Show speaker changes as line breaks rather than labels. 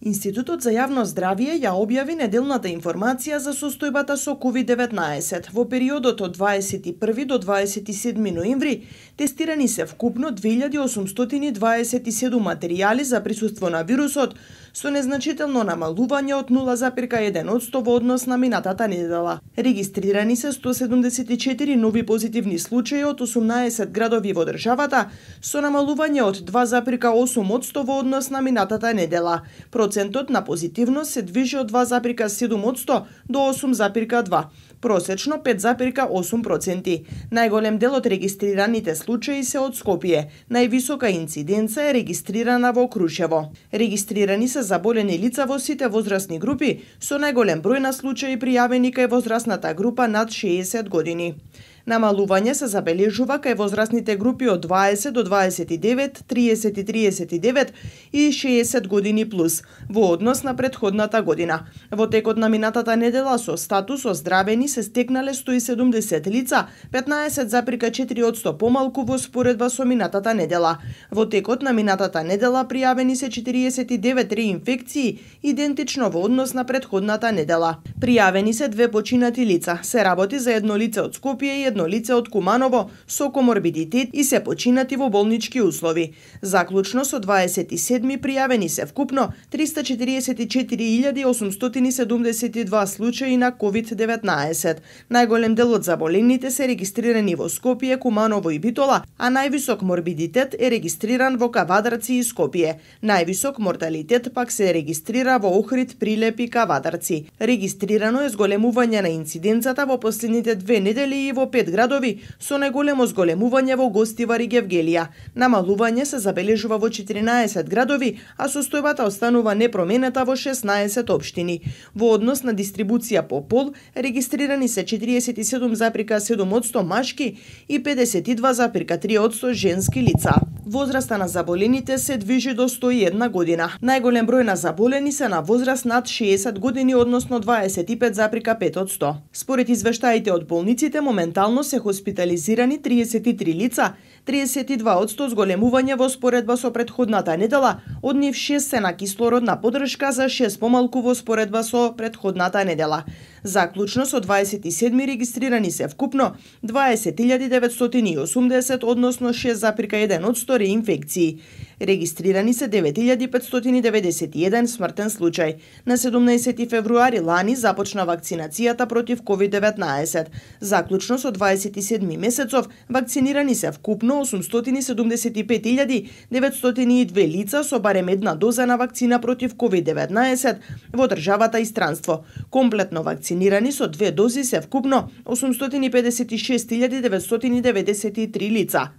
Институтот за јавно здравје ја објави неделната информација за состојбата со COVID-19. Во периодот од 21 до 27 ноември тестирани се вкупно 2827 материјали за присуство на вирусот, со незначително намалување од 0,1% во однос на минатата недела. Регистрирани се 174 нови позитивни случаи од 18 градови во државата, со намалување од 2,8% во однос на минатата недела. Процентот на позитивност се движи од 2,7% до 8,2%, просечно 5,8%. Најголем дел од регистрираните случаи се од Скопје. Највисока инциденца е регистрирана во Крушево. Регистрирани се заболени лица во сите возрастни групи, со најголем број на случаи пријавени кај возрастната група над 60 години. Намалување се забележува кај возрастните групи од 20 до 29, 30-39 и 60 години плюс, во однос на претходната година. Во текот на минатата недела со статус оздравени се стекнале 170 лица, 15,4% помалку во споредба со минатата недела. Во текот на минатата недела пријавени се 49 реинфекции, идентично во однос на претходната недела. Пријавени се 2 починати лица. Се работи за едно лице од Скопје и едно лице од Куманово со коморбидитет и се починати во болнички услови. Заклучно со 27 пријавени се вкупно 344.872 случаи на COVID-19. Најголем дел од заболените се регистрирани во Скопје, Куманово и Битола, а највисок морбидитет е регистриран во Кавадарци и Скопје. Највисок морталитет пак се регистрира во Охрид, Прилеп и Кавадарци. Регистрирано е зголемување на инциденцата во последните 2 недели и во 5 градови, со најголемо зголемување во Гостивар и Гевгелија. Намалување се забележува во 14 градови, а состојбата останува непроминета во 16 општини. Во однос на дистрибуција по пол, регистрирани се 47,7% машки и 52,3% женски лица. Возраста на заболените се движи до 101 година. Најголем број на заболени се на возраст над 60 години, односно 25,5%. Според извештаите од болниците, моментално се хоспитализирани 33 лица, 32% зголемување во споредба со претходната недела, од нив 6 се на кислородна поддршка, за 6 помалку во споредба со претходната недела. Заклучно со 27 регистрирани се вкупно 20.980, односно 6,1% реинфекции. Регистрирани се 9.591 смртен случај. На 17 февруари лани започна вакцинацијата против COVID-19. Заклучно со 27 месецов вакцинирани се вкупно 875.902 лица со барем една доза на вакцина против COVID-19 во државата и странство. Комплетно вакцинирани со 2 дози се вкупно 856.993 лица.